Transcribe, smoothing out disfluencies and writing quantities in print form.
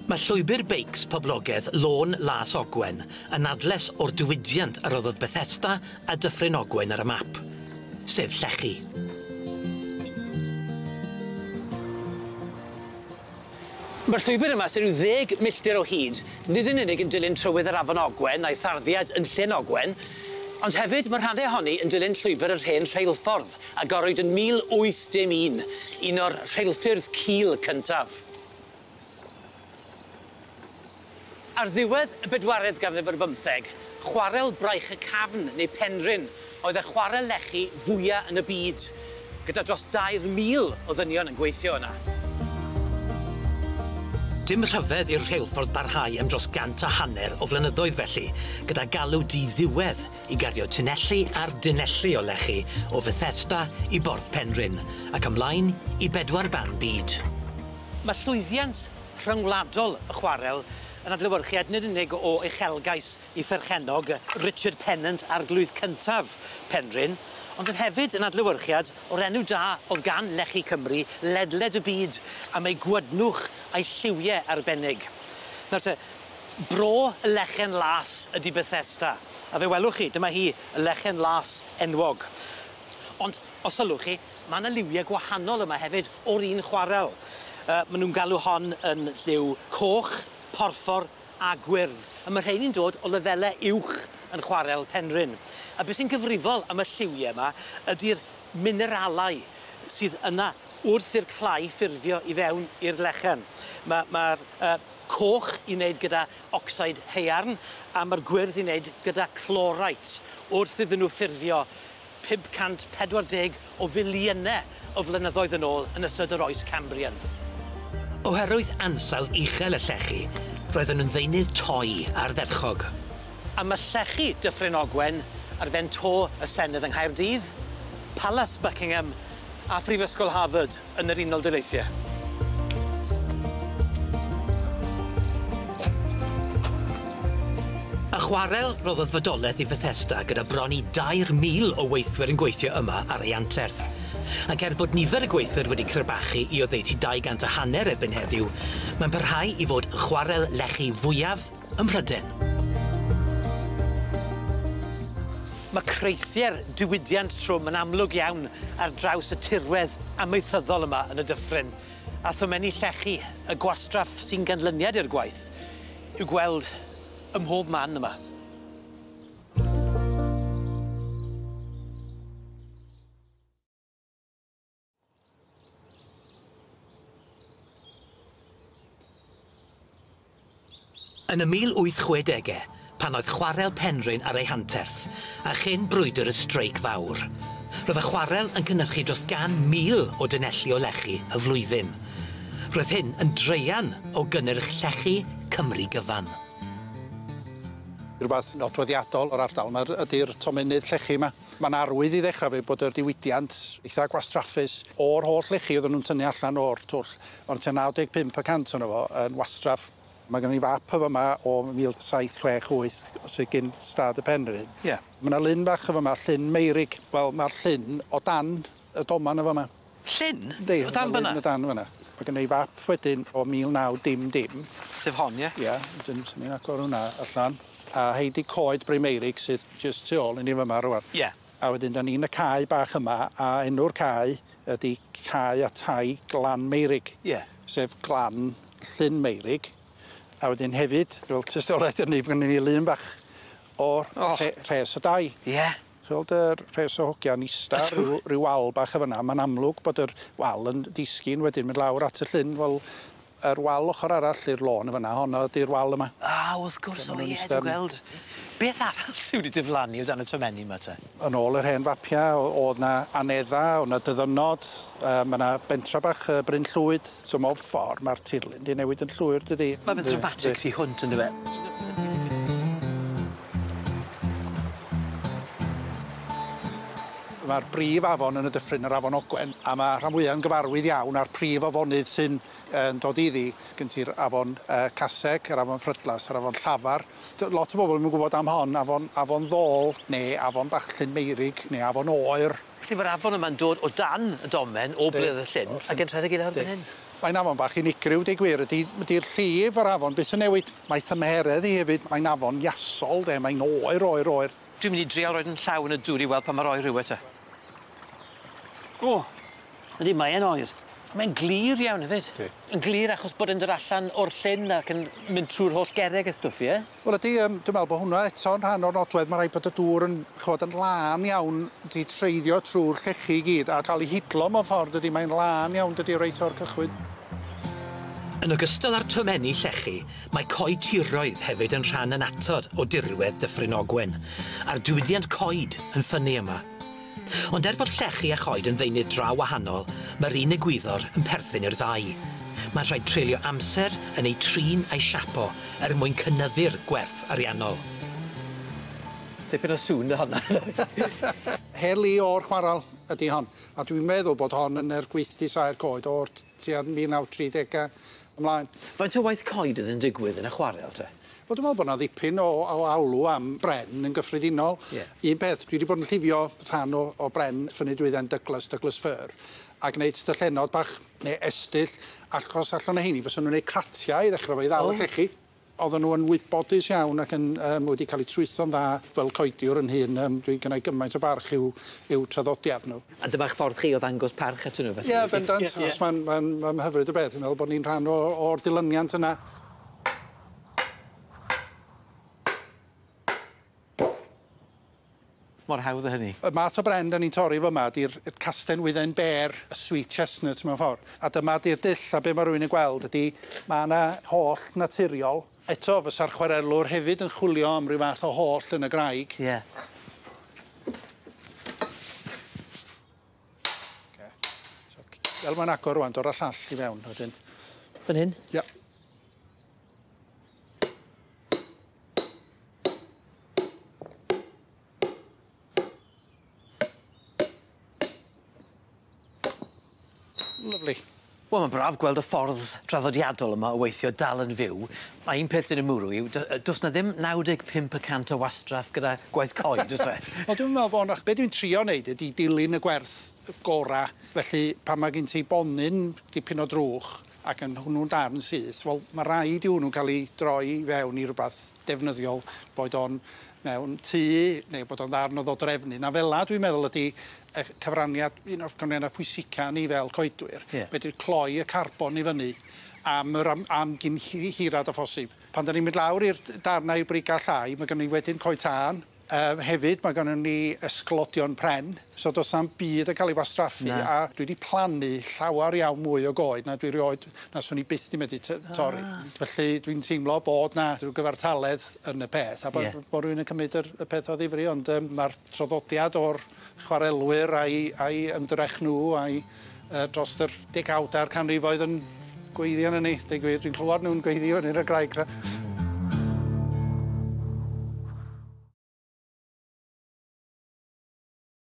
Mae llwybyr beics poblogedd Lôn Las Ogwen yn adles o'r diwydiant a roddodd Bethesda a Dyffryn Ogwen ar y map, sef llechi. Ma'r llwybyr yma sy'n ryw 10 milltir o hyd, nid yn unig yn dilyn trywydd yr Afon Ogwen a'i tharddiad yn Llyn Ogwen, ond hefyd ma' rhanne ohoni yn dilyn llwybyr yr hen rheilffordd agorwyd yn 1801, un o'r rheilffyrdd cul cyntaf. Ar ddiwedd y bedwaredd ganrif ar bymtheg, chwarel Braich y Cafn neu Penrhyn oedd y chwarel lechi fwya yn y byd, gyda dros 2,000 o ddynion yn gweithio yna. Dim rhyfedd i'r rheilffordd barhau am dros 150 o flynyddoedd felly, gyda galw di-ddiwedd i gario tunelli ar dunelli o lechi o Fethesda i Borth Penrhyn, ac ymlaen i bedwar ban byd. Mae llwyddiant rhyngwladol y chwarel yn adlewyrchiad nid unig o uchelgais i pherchennog Richard Pennant arglwydd cyntaf Penrhyn, ond yn hefyd yn adlewyrchiad o'r enw da o'dd gan Lechi Cymru ledled y byd am ei gwydnwch a'i lliwie arbennig. Nawr te, bro y Lechen Las ydi Bethesda, a fe welwch chi, dyma hi, y Lechen Las enwog. Ond, os sylwch chi, ma' 'na liwie gwahanol yma hefyd o'r un chwarel. Ma' nw'n galw hon yn lliw coch, porffor a gwyrdd. A ma' rheini'n dod o lefele uwch yn chwarel Penrhyn. A be' sy'n gyfrifol am y lliwie yma ydi'r mineralau sydd yna wrth i'r clai ffurfio i fewn i'r lechen. Ma'r coch i wneud gyda ocsid haearn a ma'r gwyrdd i wneud gyda chlorite wrth iddyn nhw ffurfio 540 o filiyne o flynyddoedd yn ôl yn ystod yr oes Cambrian. Oherwydd ansawdd uchel y llechi, roedden nhw'n ddeunydd toi ardderchog. A ma' llechi Dyffryn Ogwen ar ben to y Senedd yng Nghaerdydd, Palas Buckingham a Phrifysgol Harvard yn yr Unol Daleithiau. Y chwarel roddodd fodoleth i Fethesda gyda bron i 2,000 o weithwyr yn gweithio yma ar ei anterth. Ac er bod nifer y gweithwyr wedi crebachu i oddeutu 250 erbyn heddiw, mae'n parhau i fod y chwarel lechi fwyaf ym Mhryden. Mae creithie'r diwydiant trwm yn amlwg iawn ar draws y tirwedd amaethyddol yma yn y dyffryn, a thomenni llechi, y gwastraff sy'n ganlyniad i'r gwaith, i'w gweld ym mhob man yma. Yn y 1860au, pan oedd chwarel Penrhyn ar ei hanterth, a chyn brwydr y streic fawr, roedd y chwarel yn cynhyrchu dros 100,000 o dunelli o lechi y flwyddyn. Roedd hyn yn draean o gynnyrch llechi Cymru gyfan. Rhywbeth nodweddiadol o'r ardal yma ydy'r tomennydd llechi yma. Ma'n arwydd i ddechrau fi bod yr diwydiant eitha gwastraffus o'r holl lechi oedden nhw'n tynnu allan o'r twll, ond tua 95% ono fo yn wastraff. Mae gen i fap o fyma o 1768 sydd gyn stad y Penrhyn. Ie. Mae 'na lyn bach o fyma, Llyn Meirig. Wel, mae'r llyn o dan y doman o fyma. Llyn? Yndi. O dan fyna? Llyn o dan fyna. Mae gen i fap wedyn o 1900. Sef hon, ie? Ie, wedyn swn i'n agor hwnna allan. A hei di coed Bryn Meirig sydd jyst tu ôl i ni fyma rŵan. Ie. A wedyn 'dan ni'n y cae bach yma, a enw'r cae ydi Cae a Tai Glan Meirig. Ie. Sef Glan Llyn Meirig. A wedyn hefyd, fel tystiolaeth hynny, fy gynnon ni lun bach o'r oh. rhes o dai. Ie. Chi'n gweld yr rhes o hogia'n ista ryw wal bach o fyna, ma'n amlwg bod yr wal yn disgyn wedyn mynd lawr at y llyn, wel, yr wal ochr arall i'r lôn yn fyna, honno ydi'r wal yma. Ah, wrth gwrs, o ie, dwi'n gweld. Beth arall sy wedi diflannu o dan y tomenni yma te? Yn ôl yr hen fapia, o'dd 'na anedda, o'dd 'na dyddynnod, ma' 'na bentra bach Bryn Llwyd, so mewn ffordd ma'r tirlun 'di newid yn llwyr dydi? Ma' fe'n dramatic tu hwnt yndyw e? Ma'r brif afon yn y dyffryn, yr Afon Ogwen, a ma' rhan fwya'n gyfarwydd iawn â'r prif afonydd sy'n yn dod iddi. Gen ti'r afon Caseg, yr afon Ffrydlas, yr afon Llafar. Lot o bobl ddim yn gwybod am hon, afon Ddôl, neu afon bach Llyn Meirig, neu afon Oer. Felly ma'r afon yma'n dod o dan y domen o bledd y llyn ag yn rhedeg i lawr fan hyn? Mae'n afon bach unigryw deu gwir ydi 'di'r llif yr afon byth yn newid. Mae thymheredd hi hefyd, mae'n afon iasol de, mae'n oer oer oer. Dwi'n mynd i drial roid 'yn llaw yn y dŵr i weld pa mor oer yw e te. O! Yndi mae e'n oer. Mae'n glir iawn hefyd. Yndi. Yn glir achos bod e'n dod allan o'r llyn ac yn mynd trw'r holl gerrig a stwff ie? Wel ydi dwi'n me'wl bo' hwnna eto'n rhan o'r nodwedd ma' raid bod y dŵr yn ch'wod yn lân iawn 'di treiddio trw'r llechi i gyd a ca'l 'i hidlo mewn ffordd dydi mae'n lân iawn dydi reit o'r cychwyn. Yn ogystal â'r tomenni llechi, mae coetiroedd hefyd yn rhan annatod o dirwedd Dyffryn Ogwen, a'r diwydiant coed yn ffynnu yma. Ond er fod llechi a choed yn ddeunydd dra wahanol, mae'r un egwyddor yn perthyn i'r ddau. Mae'n rhaid treulio amser yn eu trin a'i siapo er mwyn cynyddu'r gwerth ariannol. Dipyn o sŵn 'da honna. Heli o'r chwaral ydi hon, a dwi'n meddwl bod hon yn yr gweithdy saer coed o'r tua 1930au ymlaen. Faint o waith coed oedd yn digwydd yn y chwarel te? Wel dwi'n meddwl bod 'na ddipyn o alw am bren yn gyffredinol. Ie. Un peth, dwi 'di bod yn llifio rhan o bren ffynnu dwydden Douglas, Douglas Fir, a gneud styllennod bach neu estyll, achos allan o heini fysa nw'n neud cratiau i ddechre fo i ddal y llechi. Oedden nhw yn wybodus iawn ac yn wedi cael eu trwytho'n dda fel coediwr yn hyn. Dwi'n gynnau gymaint o barch i'w traddodiad nhw. A dyma'ch ffordd chi o ddangos parch atyn nhw felly? Ie, bendant. Ie, ie. Os mae'n hyfryd o beth. Dwi'n meddwl bod ni'n rhan o'r dilyniant yna. Mor hawdd â hynny. Y math o bren 'dan ni'n torri fyma ydi'r casten wydden bêr, y sweet chestnut mewn ffordd. A dyma 'di'r dull a be' ma' rywun yn gweld ydi ma' 'na hollt naturiol. Eto fysa'r chwarelwr hefyd yn chwilio am ryw fath o hollt yn y graig. Ie. Ocê. So fel ma'n agor rŵan dod â llall i fewn wedyn. Fan hyn? Ia. Lyfli. Wel, mae'n braf gweld y ffordd draddodiadol yma o weithio dal yn fyw. Mae un peth sy'n 'y mwrw i yw do's 'na ddim 95% o wastraff gyda gwaith coed, o's e? Wel, dwi'n meddwl bo' 'na... Be' dwi'n trio neud ydi dilyn y gwerth gora. Felly, pan ma' gen ti bonyn dipyn o drwch ac yn hwnnw'n darn syth, wel, ma' raid i hwnnw ca'l 'i droi fewn i rwbath defnyddiol, boed o'n mewn tŷ neu bod o'n ddarn o ddodrefnu. Na fela dwi'n meddwl ydi y cyfraniad, un o'r cyfraniadau pwysica ni fel coedwyr. Fedru cloi y carbon i fyny am gyn hirad â phosib. Pan 'dan ni'n mynd lawr i'r darnau i'r briga llai, ma' gynnon ni wedyn coed tân. Hefyd, mae gynnon ni ysglodion pren, so do's na'm byd yn cael ei wastraffu. Na. A dwi 'di plannu llawar iawn mwy o goed na dwi rioed, na swn i byth 'di medru torri. Felly dwi'n teimlo bod 'na rhyw gyfartaledd yn y peth, a bo' rywun yn cymryd y peth o ddifri, ond ma'r traddodiad o'r chwarelwyr a'i ymdrech nhw a'i dros yr degawd a'r canrifoedd yn gweiddi arnon ni. Deud gwir, dwi'n clywed nhw'n gweiddi fyny yn y graig 'na.